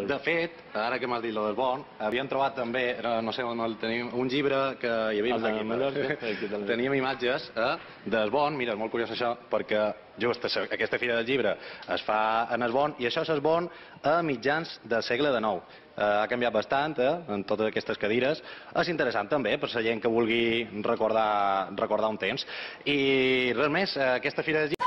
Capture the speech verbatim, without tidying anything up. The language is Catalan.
De fet, ara que m'has dit lo del Bon, havíem trobat també, no sé on el tenim, un llibre que hi havia aquí. Teníem imatges del Bon, mira, és molt curiós això, perquè just aquesta fira del llibre es fa en el Bon, i això és el Bon a mitjans del segle dinou. Ha canviat bastant en totes aquestes cadires. És interessant també per la gent que vulgui recordar un temps. I res més, aquesta fira del llibre...